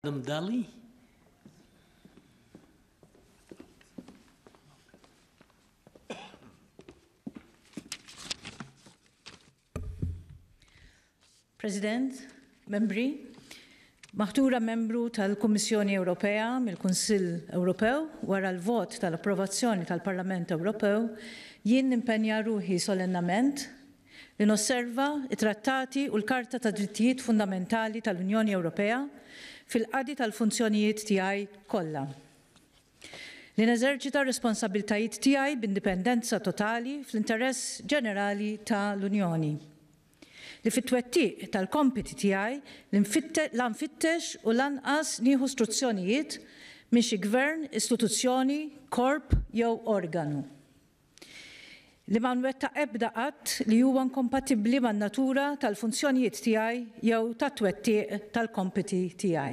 Madam Dalli. President, membri, maħtura membru tal-Kummissjoni Ewropea mill-Kunsill Ewropew wara l-vot tal-approvazzjoni tal-Parlament Ewropew, jien nimpenja ruħi solennament Li nosserva t-Trattati u l-Karta tad-Drittijiet Fundamentali tal-Unjoni Ewropea fil-qadi tal-funzjonijiet tiegħi kollha. Li neżerċita r-responsabbiltajiet tiegħi b'indipendenza totali fl-interess ġenerali ta' l-Unjoni. Li fit-twettiq tal-kompiti tiegħi la nfittex u lanqas nieħu struzzjonijiet minn xi gvern, istituzzjoni, korp jew organu. Li ma nwettaq ebda att li huwa inkompatibbli man-natura tal-funzjonijiet tiegħi jew tat-twettiq tal-kompiti tiegħi.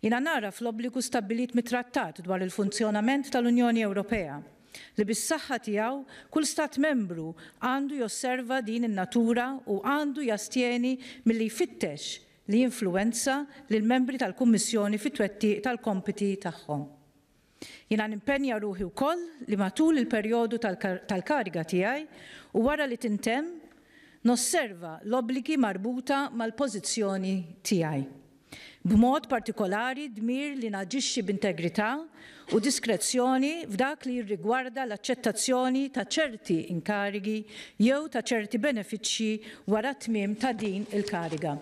Jiena nagħraf l-obbligu stabbilit mit-Trattat dwar il-Funzjonament tal-Unjoni Ewropea li bis-saħħa tiegħu kull Stat Membru għandu josserva din in-natura u għandu jastjeni milli jfittex li jinfluwenza lill-membri tal-Kummissjoni fit-twettiq tal-kompiti tagħhom. Jiena nimpenja ruħi wkoll li matul il-perjodu tal-kariga tiegħi u wara li tintemm, nosserva l-obbligi marbuta mal-pożizzjoni tiegħi. B'mod partikolari d-dmir li naġixxi b'integrità u diskrezzjoni f'dak li jirrigwarda l-aċċettazzjoni ta' ċerti inkarigi jew ta' ċerti benefiċċji wara t-tmiem ta' din il-kariga.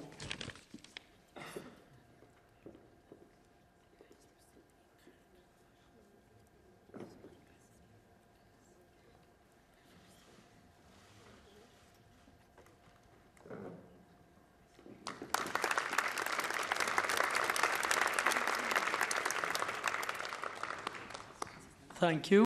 Thank you.